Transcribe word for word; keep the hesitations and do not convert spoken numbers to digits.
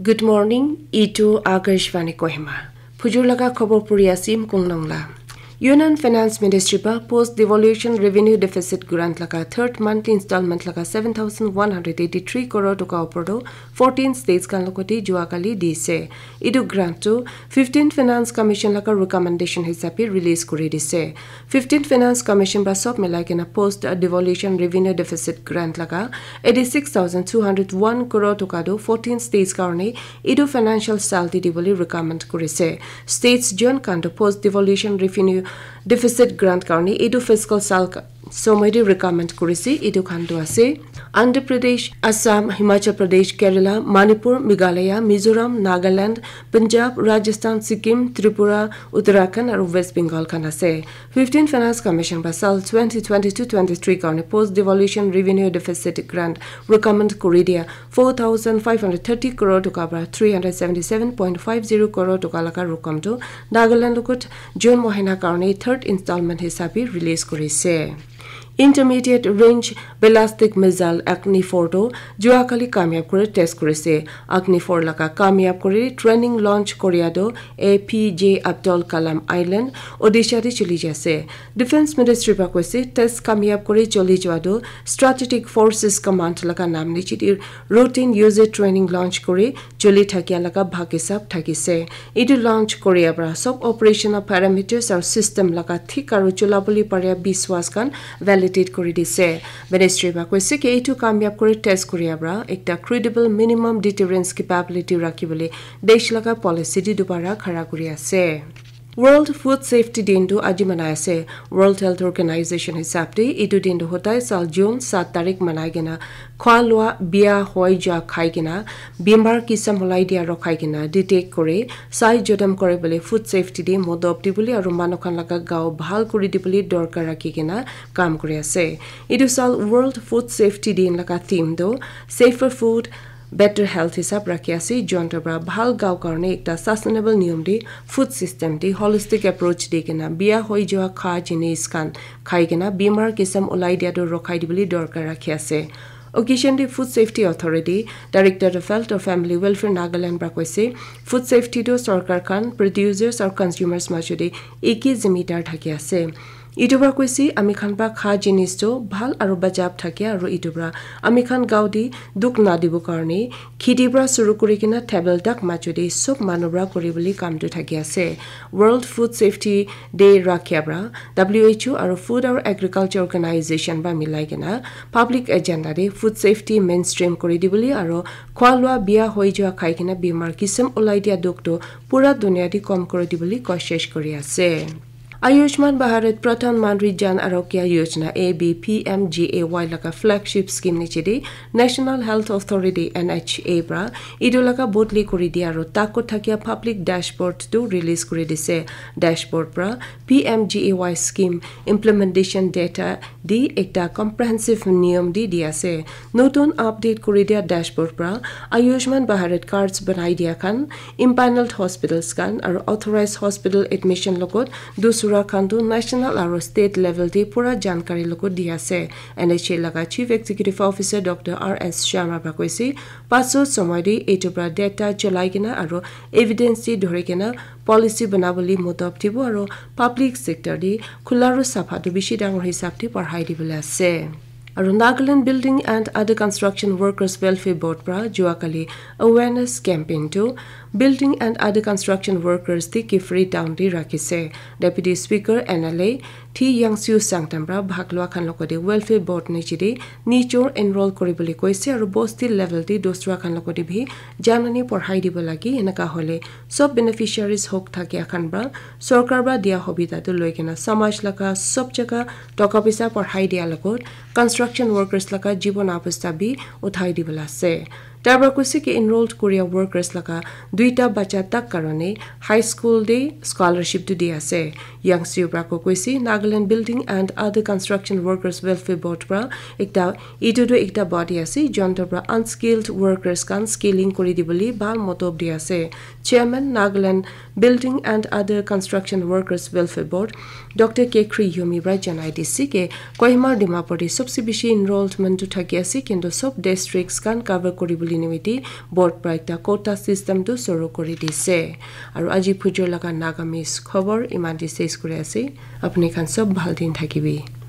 Good morning, itu Akashvani Kohima. Phujur laga khobor puri asim Kungnong la. Union Finance Ministry pa post devolution revenue deficit grant laga third monthly installment laga seven thousand one hundred eighty-three crore toka opor to fourteen states khan logote jua kali dise. Itu grant to fifteenth Finance Commission laga recommendation hisabe release kuri dise. Fifteenth Finance Commission pa sob milai kena post devolution revenue deficit grant laga eighty-six thousand two hundred one crore toka tu fourteen states karone itu financial sal di dibole recommend kurise. States jon khan tu post devolution revenue deficit grant karone itu fiscal sal ka-, somoi di recommend kurise. Itu khan tu ase Andhra Pradesh, Assam, Himachal Pradesh, Kerala, Manipur, Meghalaya, Mizoram, Nagaland, Punjab, Rajasthan, Sikkim, Tripura, Uttarakhand aru West Bengal khan ase. Fifteen Finance Commission pa sal twenty twenty-two twenty-three karone post devolution revenue deficit grant recommend kuri dia four thousand five hundred thirty crore toka para three hundred seventy-seven point five zero crore toka laga rokom tu Nagaland logot June mohina karone third installment hisabe release kurise. Intermediate range ballistic missile Agni four tu jua kali kamyab kuri test kurise. Agni four laga kamyab kuri training launch koria tu A P J Abdul Kalam Island, Odisha te chuli jai ase. Defense Ministry pa koise test kamyab kuri chuli jua tu Strategic Forces Command laga nam niche te routine user training launch kuri chuli thakia laga bhag hisab thakise. Itu launch koria para sob operational parameters aru system laga thik aru chula bole paria biswas khan validate kuri dise. Ministry pa koise ki itu kamyab kuri test koria para ekta credible minimum deterrence capability rakhi bole desh laga policy di dubara khara kuri ase. World Food Safety Din tu aji manai ase. World Health Organization hisab te itu din tu hotai sal June sat tarik manai kena khwa lua bia hoi ja khai kena bimar kisam hulai dia rokhai kena detect kore sai jodam kore bole food safety te modop di bole aru manu khan laga gao bhal kuri di bole dorkar rakhi kena kam kuri ase. Itu sal World Food Safety Din laga theme tu safer food, better health hisab rakhi ase. Jonto pra bhal gao karne ekta sustainable niyom de food system de holistic approach de kena bia hoi jua kha jinis khan khai kena bimar kisam ulai dia tu rokhai dibole dorkar rakhi ase. Occasion de Food Safety Authority, Director of Health or Family Welfare Nagaland pra koise, food safety tu sorkar khan, producers or consumers majo de eki zimidar thaki ase. Itu pra koise, ami khan pra kha jinis tu bhal aru bajab thake aru itu pra ami khan gao de dukh na dibo karne kheti pra suru kuri kena table tak majo de sob manu pra kuri bole kam tu thaki ase. World Food Safety Day rakhia pra W H O aru Food aru Agriculture Organization pra milai kena public agenda de food safety mainstream kuri dibole aru khwa lua bia hoi jua khai kena bimar kisam ulai dia dukh tu pura dunia de kom kuri dibole koshish kuri ase. Ayushman Bharat Pradhan Mantri Jan Arogya Yojana A B P M G A Y laga flagship scheme niche de National Health Authority N H A pra itu laga bodli kuri dia aru takot thakia public dashboard tu release kuri dise. Dashboard pra P M G A Y scheme implementation data di ekta comprehensive niyom di di ase. Notun update kuri dia dashboard pra Ayushman Bharat cards banai dia khan, empaneled hospitals khan aru authorized hospital admission logot dusra khan tu national aru state level de pura jankari logot di ase. N H A laga Chief Executive Officer Doctor R S Sharma pra koise, paso somoi de etu pra data cholai kena aru evidence de dhori kena policy banabole modop dibo aru public sector de khula aru sapha tu bishi dangor hisab de parhai dibole ase. Aru Nagaland Building and Other Construction Workers Welfare Board pra jua kali awareness campaign tu Building and Other Construction Workers de Kiphire Town de rakhise. Deputy Speaker N L A T Yangsiu Sangtam pra bhag lua khan logote Welfare Board niche de nijor enroll kuri bole koise aru bosti level de dusra khan logote bhi janani porhai dibo lage. Eneka hole sob beneficiaries hok thakia khan pra sorkar pra dia hobita tu loi kena samaj laga sob jaga toka pisa porhai dia logot construction workers laga jibon abostha bi uthai dibole ase. Tar pra koise ki enrolled kuria workers laga duita bacha tak karone high school de scholarship tu di ase. Yangsiu pra ko koise Nagaland Building and Other Construction Workers Welfare Board pra ekta, itu tu ekta body ase, jonto pra unskilled workers khan skilling kuri dibole bhal modop di ase. Chairman Nagaland Building and Other Construction Workers Welfare Board, Doctor K Khri Yomi pra janai dise ki Kohima Dimapur de sobse bishi enrollment tu thaki ase, kintu sob districts khan cover kuri bole nimite board para ekta quota system tu suru kuri dise. Aru aji phujor laga Nagamese khobor iman te ses kuri ase. Apni khan sob bhal din thakibi.